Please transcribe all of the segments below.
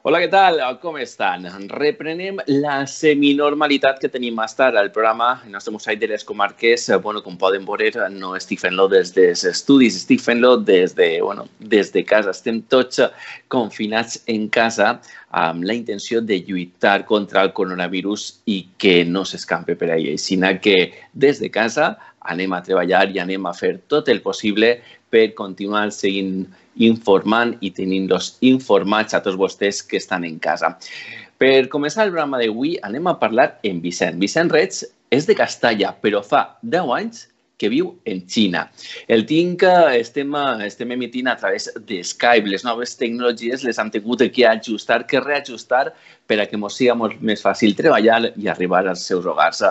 Hola, què tal? Com estan? Reprenem la seminormalitat que tenim més tard al programa, el nostre mosaic de les comarques. Bueno, com poden veure, no estic fent-lo des dels estudis, estic fent-lo des de casa. Estem tots confinats en casa amb la intenció de lluitar contra el coronavirus i que no s'escampi per ahí. Així que des de casa anem a treballar i anem a fer tot el possible per continuar seguint informant i tenint-los informats a tots vostès que estan en casa. Per començar el programa d'avui anem a parlar amb Vicent. Vicent Reig és de Castalla, però fa 10 anys que viu en Xina. Estem emitint a través de Skype. Les noves tecnologies les hem tingut que ajustar, que reajustar per a que ens sigui molt més fàcil treballar i arribar als seus hogars.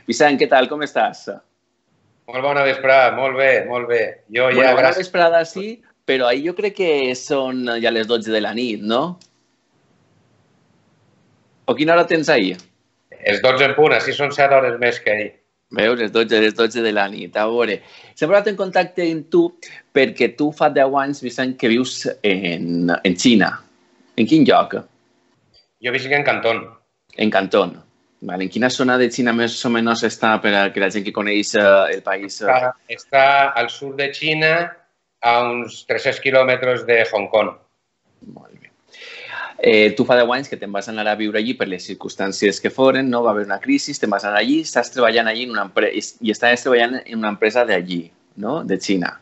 Vicent, què tal? Com estàs? Molt bona vesprada, molt bé, molt bé. Bona vesprada, sí, però ahir jo crec que són ja les 12 de la nit, no? O quina hora tens ahir? Els 12 en punt, així són 7 hores més que ahir. Veus, les 12 de la nit. A veure, s'ha posat en contacte amb tu perquè tu fa 10 anys, Vicent, que vius en Xina. En quin lloc? Jo visc en Cantón. En Cantón. Vale. En quina zona de Xina més o menys està per a que la gent que coneix el país... Està al sud de Xina, a uns 300 quilòmetres de Hong Kong. Molt bé. Tu fa 10 anys que te'n vas anar a viure allí per les circumstàncies que foren, no? Va haver una crisi, te'n vas anar allí, estàs treballant allí en una empresa, i estaves treballant en una empresa d'allí, no? De Xina.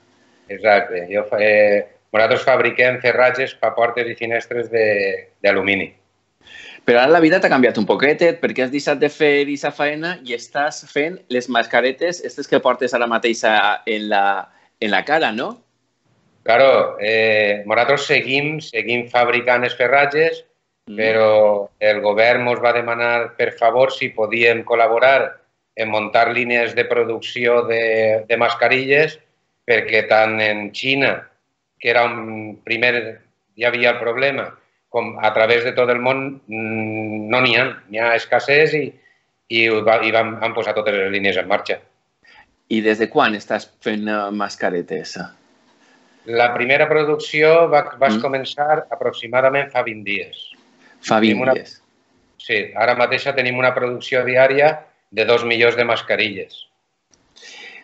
Exacte. Nosaltres fabriquem ferratges per portes i finestres d'alumini. Però ara la vida t'ha canviat un poquetet perquè has deixat de fer aquesta feina i estàs fent les mascaretes, aquestes que portes ara mateix en la cara, no? Claro, nosaltres seguim fabricant els ferratges, però el govern ens va demanar, per favor, si podíem col·laborar en muntar línies de producció de mascarilles, perquè tant en Xina, que era hi havia el problema, com a través de tot el món no n'hi ha escassez i han posat totes les línies en marxa. I des de quan estàs fent mascaretes? La primera producció va començar aproximadament fa 20 dies. Fa 20 dies? Sí, ara mateix tenim una producció diària de 2 milions de mascarilles.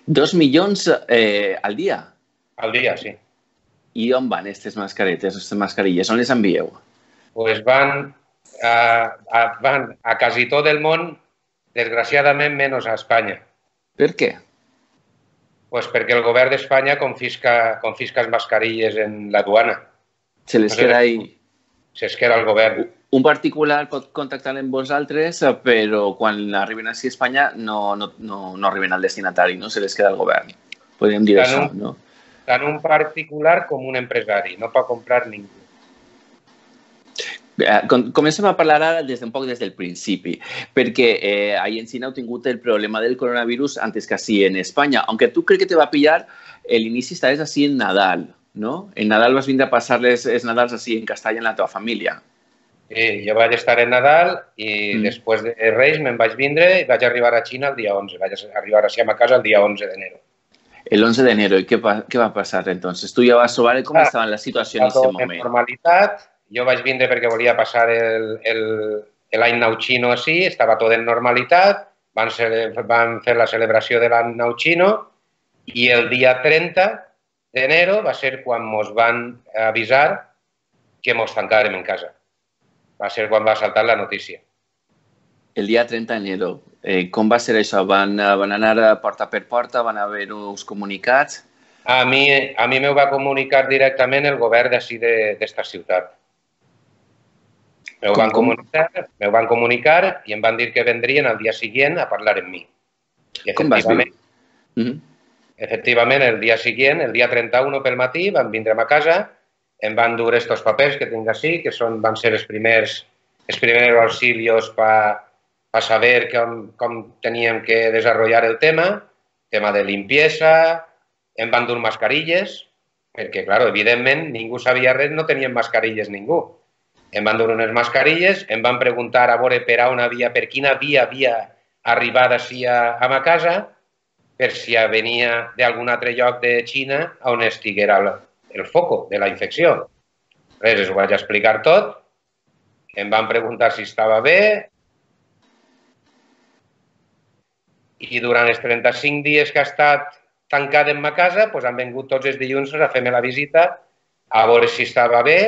2 milions al dia? Al dia, sí. I on van aquestes mascaretes, aquestes mascarilles? On les envieu? Pues van a quasi tot el món, desgraciadament menys a Espanya. Per què? Pues perquè el govern d'Espanya confisca les mascarilles en la duana. Se les queda ahí? Se les queda al govern. Un particular pot contactar amb vosaltres, però quan arriben a Espanya no arriben al destinatari, no? Se les queda al govern. Podríem dir això, no? Tant un particular com un empresari. No pot comprar ningú. Comencem a parlar ara des del principi, perquè ahir en Xina heu tingut el problema del coronavirus antes que així en Espanya, aunque tu crec que te va pillar l'inici estaves així en Nadal, no? En Nadal vas vindre a passar els Nadals així en Castalla amb la teva família. Sí, jo vaig estar en Nadal i després de Reis me'n vaig vindre i vaig arribar a Xina el dia 11. Vaig arribar així a ma casa el dia 11 d'enero. El 11 d'enero, i què va passar entonces? Tu ja vas trobar com estava la situació en aquest moment. En normalitat. Jo vaig vindre perquè volia passar l'any nou xino així, estava tot en normalitat, van fer la celebració de l'any nou xino i el dia 30 d'enero va ser quan ens van avisar que ens tancàrem en casa. Va ser quan va saltar la notícia. El dia 30 d'enero. Com va ser això? Van anar porta per porta? Van haver uns comunicats? A mi m'ho va comunicar directament el govern d'ací d'esta ciutat. M'ho van comunicar i em van dir que vendrien el dia següent a parlar amb mi. Com vas viure? Efectivament, el dia següent, el dia 31 pel matí, van vindre a ma casa, em van dur aquests papers que tinc així, que van ser els primers auxilios per saber com teníem que desenvolupar el tema de limpiesa, em van dur mascarilles, perquè, clar, evidentment, ningú sabia res, no tenien mascarilles ningú. Em van donar unes mascarilles, em van preguntar a veure per quina via havia arribat així a ma casa, per si venia d'algun altre lloc de Xina on estiguera el foco de la infecció. Res, us ho vaig explicar tot em van preguntar si estava bé i durant els 35 dies que ha estat tancat en ma casa, doncs han vingut tots els dilluns a fer-me la visita a veure si estava bé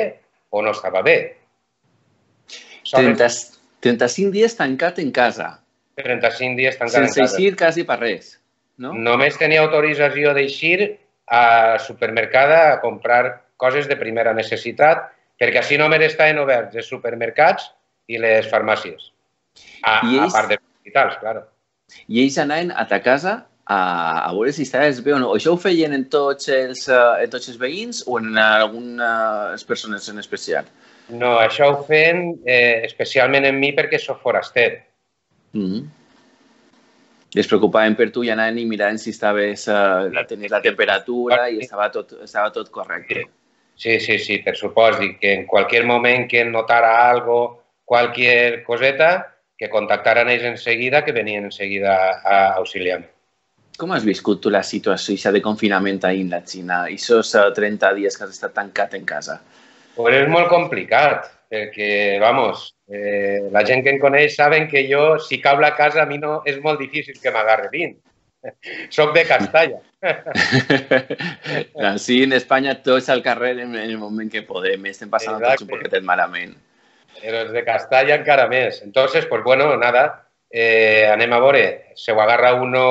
o no estava bé. 35 dies tancat en casa. 35 dies tancat en casa. Sense eixir quasi per res, no? Només tenia autorització d'eixir al supermercat a comprar coses de primera necessitat, perquè així només estaven oberts els supermercats i les farmàcies. A part dels hospitals, clar. I ells anaven a ta casa a veure si estaves bé o no. Això ho feien en tots els veïns o en algunes persones en especial? No, això ho feien especialment en mi perquè soc foraster. I es preocupaven per tu i anaven i miraven si tenies la temperatura i estava tot correcte. Sí, per supost. I que en qualsevol moment que notara algo, qualsevol coseta, que contactaran ells enseguida, que venien enseguida a auxiliar-me. Com has viscut tu la situació de confinament ahir en la Xina? Aquests 30 dies que has estat tancat en casa? Pues és molt complicat, perquè, vamos, la gent que em coneix saben que jo, si cau la casa, a mi no és molt difícil que m'agarre dins. Soc de Castalla. Així, en Espanya, tots al carrer en el moment que podem. Estem passant tots un poquet malament. Però els de Castalla encara més. Entonces, pues bueno, nada, anem a veure. Se ho agarra uno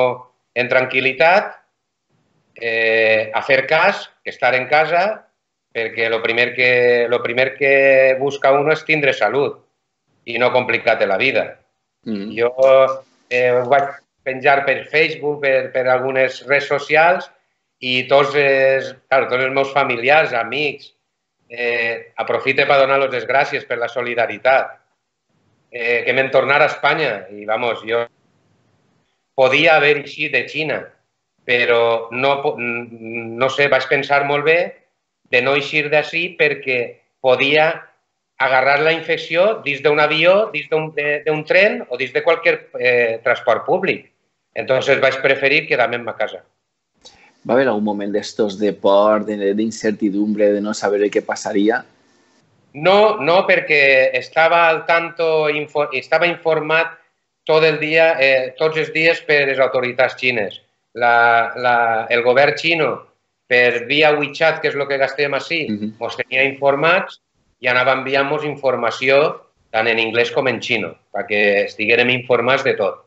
en tranquil·litat, a fer cas, que estar en casa, perquè lo primer que busca uno és tindre salut i no complicar-te la vida. Jo ho vaig penjar per Facebook, per algunes redes socials, i tots els meus familiars, amics, aprofite per donar-los les gràcies per la solidaritat. Que m'en tornar a Espanya i, vamos, jo podia haver eixit de Xina, però no sé, vaig pensar molt bé de no eixir d'ací perquè podia agarrar la infecció dins d'un avió, dins d'un tren o dins de qualsevol transport públic. Entonces vaig preferir quedar-me en ma casa. Va haver algun moment d'estos de por, d'incertidumbre, de no saber què passaria? No, perquè estava al tanto, estava informat tot el dia, tots els dies per les autoritats xines. El govern xino, per via WeChat, que és el que gastem així, ens tenia informats i anava enviant-nos informació tant en anglès com en xino, perquè estiguérem informats de tot.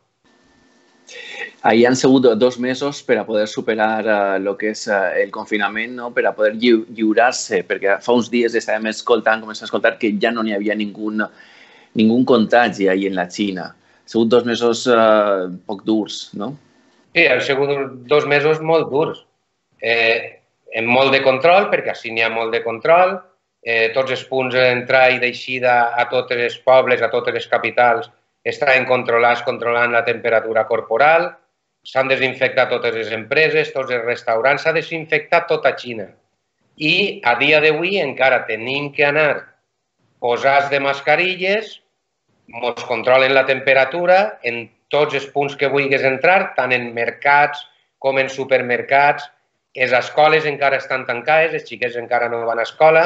Ahir han sigut 2 mesos per a poder superar el que és el confinament, per a poder lliurar-se, perquè fa uns dies estàvem començant a escoltar que ja no n'hi havia ningú contagi ahir en la Xina. Han sigut 2 mesos poc durs, no? Sí, han sigut 2 mesos molt durs. Amb molt de control, perquè així n'hi ha molt de control. Tots els punts d'entrada i d'eixida a tots els pobles, a totes les capitals, estaven controlats, controlant la temperatura corporal. S'han desinfectat totes les empreses, tots els restaurants, s'ha desinfectat tota Xina. I a dia d'avui encara tenim que anar posats de mascarilles, ens controlen la temperatura en tots els punts que vulguis entrar, tant en mercats com en supermercats. Les escoles encara estan tancades, els xiquets encara no van a escola,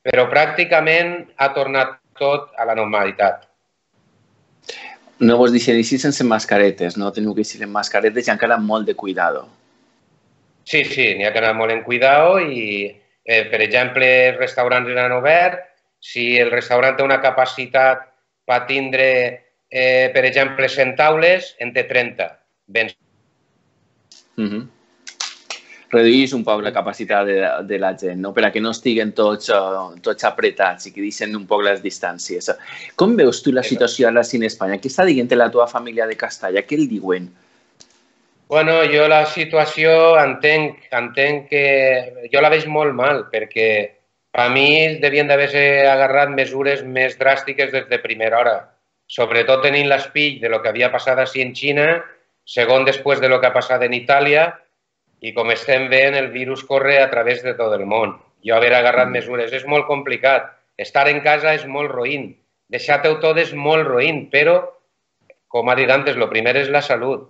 però pràcticament ha tornat tot a la normalitat. No vos deixen eixir sense mascaretes, no? Teniu que eixir amb mascaretes i encara molt de cuidado. Sí, n'hi ha que anar molt en cuidado i, per exemple, els restaurants han obert. Si el restaurant té una capacitat per tindre, per exemple, 100 taules, en té 30. Reduís un poc la capacitat de la gent, no? Per a que no estiguen tots apretats i que deixen un poc les distàncies. Com veus tu la situació ara en Espanya? Què està dient la teva família de Castalla? Què el diuen? Bueno, jo la situació entenc que jo la veig molt mal, perquè per mi devien d'haver-se agarrat mesures més dràstiques des de primera hora, sobretot tenint l'espill de lo que havia passat així en Xina, segon després de lo que ha passat en Itàlia, i com estem veient, el virus corre a través de tot el món. Jo haver agarrat mesures és molt complicat. Estar en casa és molt roïn. Deixar-te-ho tot és molt roïn, però, com ha dit antes, el primer és la salut.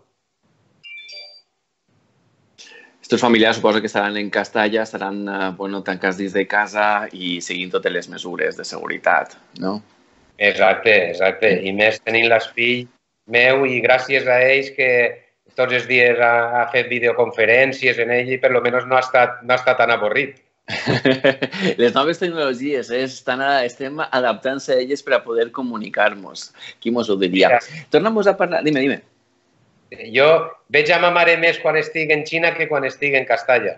Els teus familiars suposo que estaran en Castalla, estaran tancats dins de casa i seguint totes les mesures de seguretat, no? Exacte, exacte. I més tenint l'espill meu i gràcies a ells que tots els dies ha fet videoconferències en ell i per lo menos no ha estat tan avorrit. Les noves tecnologies estem adaptant-se a elles per a poder comunicar-nos. Qui mos ho diria? Torna'm a parlar... Dime. Jo veig a ma mare més quan estic en Xina que quan estic en Castalla.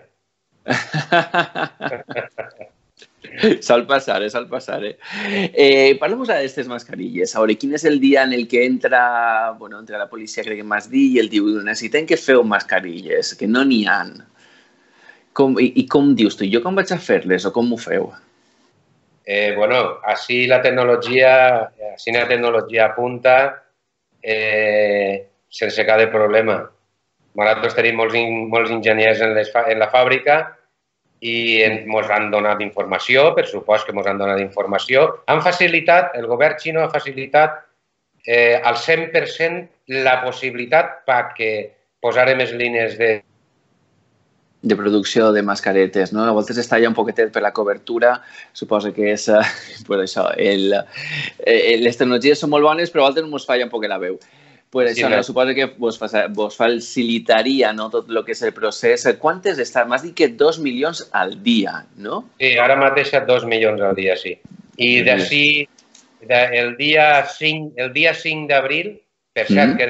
Sol passar. Parlem d'aquestes mascarilles. A veure, quin és el dia en el que entra la policia, crec que m'has dit, i el diu, necessitem que feu mascarilles, que no n'hi ha. I com dius tu? Jo com vaig a fer-les o com ho feu? Així la tecnologia apunta sense cap de problema. Nosaltres tenim molts enginyers en la fàbrica i ens han donat informació, per supost que ens han donat informació. El govern xino ha facilitat al 100% la possibilitat perquè posarem les línies de producció de mascaretes, no? A voltes està ja un poquetet per la cobertura, suposo que és pues això, les tecnologies són molt bones, però a voltes ens falla un poquet la veu. Pues això, no, suposo que vos facilitaria, no, tot el que és el procés. Quantes estan? M'has dit que 2 milions al dia, no? Sí, ara mateix 2 milions al dia, sí. I d'ací, el dia 5 d'abril, per cert, que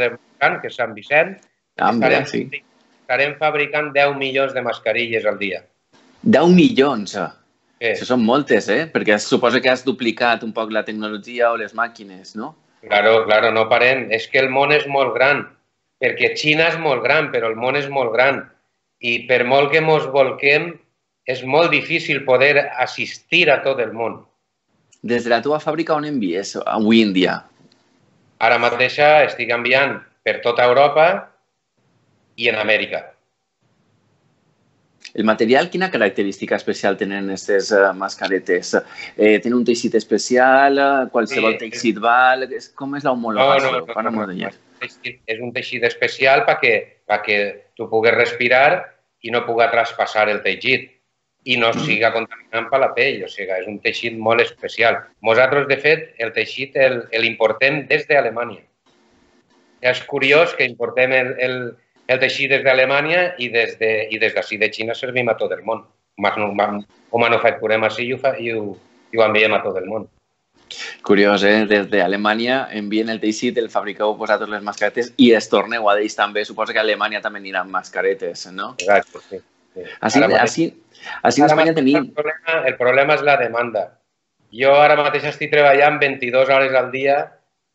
és Sant Vicent, estarem fabricant 10 milions de mascarilles al dia. 10 milions? Sí. Això són moltes, Perquè suposo que has duplicat un poc la tecnologia o les màquines, no? Claro, no parem. És que el món és molt gran, perquè Xina és molt gran, però el món és molt gran. I per molt que ens volquem, és molt difícil poder assistir a tot el món. Des de la teva fàbrica on envies avui en dia? Ara mateix estic enviant per tota Europa i en Amèrica. El material, quina característica especial tenen aquestes mascaretes? Tenen un teixit especial? Qualsevol teixit val? Com és l'homologació? No. És un teixit especial perquè tu puguis respirar i no pugui traspassar el teixit i no siga contaminant per la pell. O sigui, és un teixit molt especial. Nosaltres, de fet, el teixit l'importem des d'Alemanya. És curiós que importem el teixit des d'Alemanya i des d'ací de Xina servim a tot el món. Ho manufacturem així i ho enviem a tot el món. Curiós, Des d'Alemanya envien el teixit, el fabriqueu vosaltres les mascaretes i es torneu a d'ells també. Suposo que a Alemanya també aniran mascaretes, no? Exacte, sí. Així en Espanya tenim... El problema és la demanda. Jo ara mateix estic treballant 22 hores al dia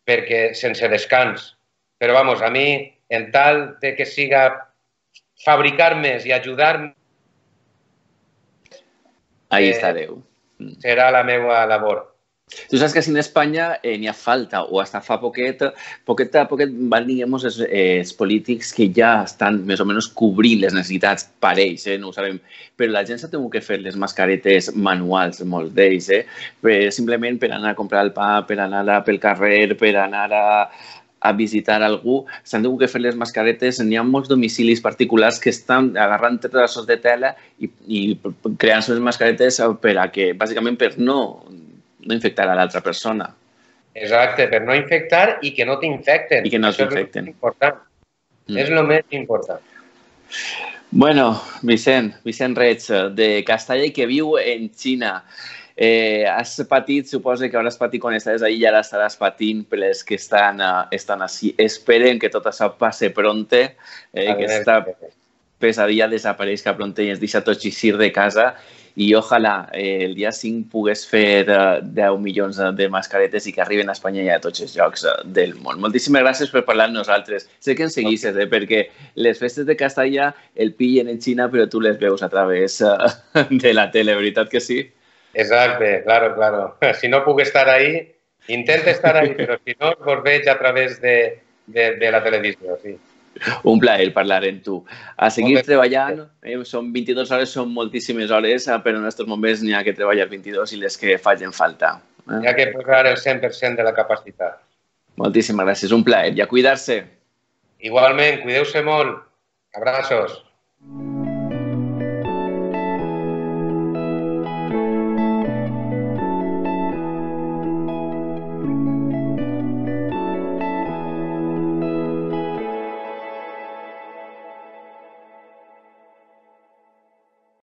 perquè sense descans. Però, a mi, en tal de que siga fabricar més i ajudar... Ahí estareu. Serà la meva labor. Tu saps que així en Espanya n'hi ha falta, o hasta fa poquet van, diguem, els polítics que ja estan més o menys cobrint les necessitats per ells, no ho sabem, però la gent s'ha tingut que fer les mascaretes manuals, molts d'ells, simplement per anar a comprar el pa, per anar pel carrer, per anar a visitar algú, s'han tingut que fer les mascaretes. N'hi ha molts domicilis particulars que estan agarrant trossos de tela i creant les mascaretes bàsicament per no infectar a l'altra persona. Exacte, per no infectar i que no t'infecten. I que no t'infecten. És el més important. Bueno, Vicent Reig, de Castalla i que viu en Xina. Has patit, suposo que hauràs patit quan estaves allà i ara estaràs patint per les que estan així. Esperen que tot això passe pronte, que aquesta pesadilla desapareixi pronte i ens deixa tots eixir de casa. I ojalà el dia 5 pogués fer 10 milions de mascaretes i que arriben a Espanya i a tots els llocs del món. Moltíssimes gràcies per parlar amb nosaltres. Sé que ens seguisses, perquè les festes de Castalla el pillen en Xina, però tu les veus a través de la tele, veritat que sí? Exacte, claro. Si no puc estar ahí, intento estar ahí, però si no, vos veig a través de la televisió, sí. Un plaer parlar amb tu. A seguir treballant, són 22 hores, són moltíssimes hores, però en aquests moments n'hi ha que treballar 22 i les que facin falta. Hi ha que posar el 100% de la capacitat. Moltíssimes gràcies, un plaer. I a cuidar-se. Igualment, cuideu-se molt. Abraços.